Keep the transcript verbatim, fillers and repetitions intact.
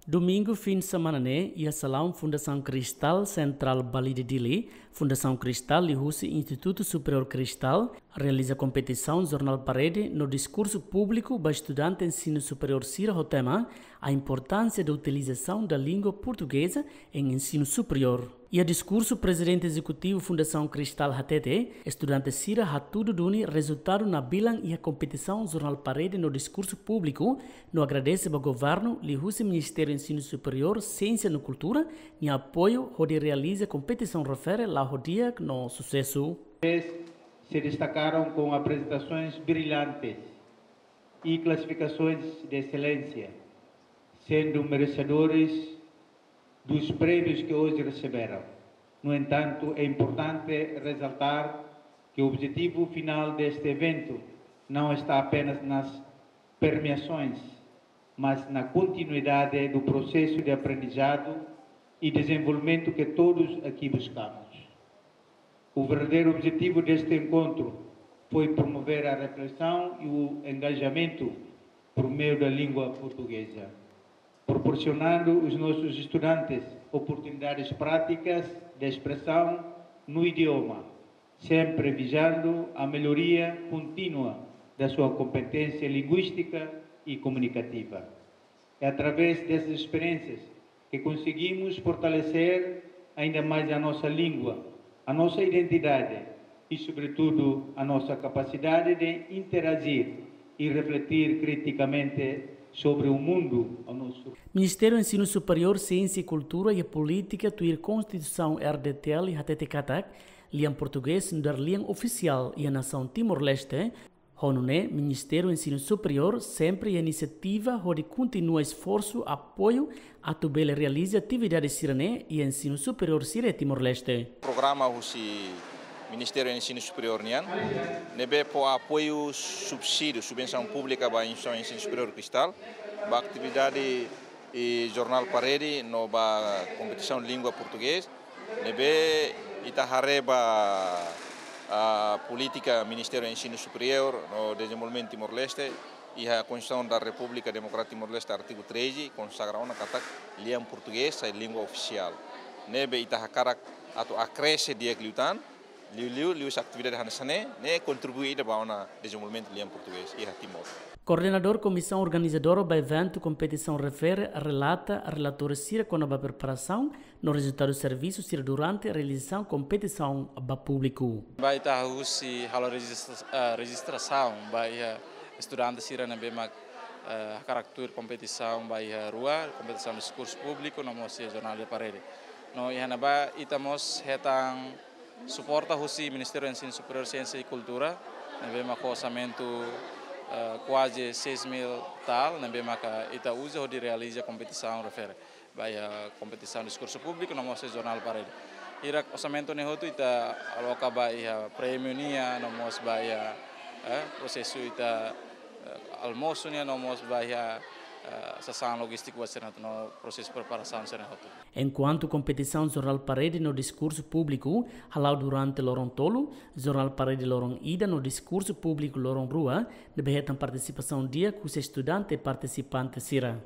Domingu fin semana ne'e, iha salaun Fundasaun Cristal, Sentrál Balide, Dili, Fundasaun Cristal liuhusi Institutu Superiór Cristal realiza kompetisaun jornál parede no diskursu públiku ba estudante ensinu superiór sira ho tema: A importância da utilização da língua portuguesa em ensino superior. Iha diskursu, Prezidente Ezekutivu Fundasaun Cristal hatete, estudante sira hatudu duni rezultadu nabilan iha kompetisaun jornál parede no diskursu públiku, no agradese ba governu liuhusi Ministériu Ensinu Superiór, Siénsia no Kultura nia apoiu hodi realiza kompetisaun refere la'o ho di'ak no susesu. Se destacaram com apresentações brilhantes e classificações de excelência, sendo merecedores dos prémios que hoje receberam. No entanto, é importante ressaltar que o objetivo final deste evento não está apenas nas premiações, mas na continuidade do processo de aprendizado e desenvolvimento que todos aqui buscamos. O verdadeiro objetivo deste encontro foi promover a reflexão e o engajamento por meio da língua portuguesa, proporcionando aos nossos estudantes oportunidades práticas de expressão no idioma, sempre visando a melhoria contínua da sua competência linguística e comunicativa. É através dessas experiências que conseguimos fortalecer ainda mais a nossa língua, a nossa identidade e, sobretudo, a nossa capacidade de interagir e refletir criticamente sobre o mundo ao nosso. Ministériu Ensinu Superiór, Siénsia i Kultura iha polítika tuir Konstituisaun R D T L hatete katak lian portugés nu'udar lian ofisiál iha nasaun Timor-Leste. Ho nune'e, Ministériu Ensinu Superiór sempre iha inisiativa hodi kontinua esforsu apoiu atu bele realiza atividade sira-ne'e iha ensinu superiór sira iha Timor-Leste. Programa husi Ministériu Ensinu Superiór nian, ne'ebé fó apoiu subsídiu, subvensaun públika ba instituisaun ensinu superiór Cristal, ba atividade jornál parede no ba kompetisaun língua portugés, ne'ebé ita haree ba polítika Ministériu Ensinu Superiór no Dezenvolvimentu Timor-Leste, iha Konstituisaun da Repúblika Demokrátika Timor-Leste, artigu treze, konsagra ona katak lian portugés sai língua ofisiál. Ne'ebé ita hakarak atu akresente di'ak liután, liuliu, liuhusi atividade hanesan ne'e, ne'e kontribui ida ba ona dezenvolvimentu lian portugés iha Timor. Koordenadór Komisaun Organizadora ba eventu kompetisaun refere relata relatóriu sira kona-ba preparasaun no rezultadu servisu sira durante realizasaun kompetisaun ba públiku. Ba ita husi halo rejistra-, eh, rejistrasaun ba iha estudante sira ne'ebé mak, eh, hakarak tuir kompetisaun ba iha rua, kompetisaun diskursu públiku no mós iha jornál de parede. No iha ne'ebá ita mós hetan suporta husi Ministériu Ensinu Superiór, Siénsia i Kultura, ne'ebé mak ho orsamentu, eh, kuaze seis mil tal, ne'ebé maka ita uza hodi realiza kompetisaun refere ba iha kompetisaun diskursu públiku no mós jornál parede. Hirak orsamentu ne'e hotu ita aloka ba iha prémiu nian no mós ba iha, eh, prosesu ita, eh, almosu nian no mós ba iha, eh, sasán lojístiku ba sira no prosesu preparasaun sira hotu. Enkuantu kompetisaun jornál parede no diskursu públiku hala'o durante loron tolu, jornál parede loron ida no diskursu públiku loron rua ne'ebé hetan partisipasaun di'ak husi estudante partisipante sira.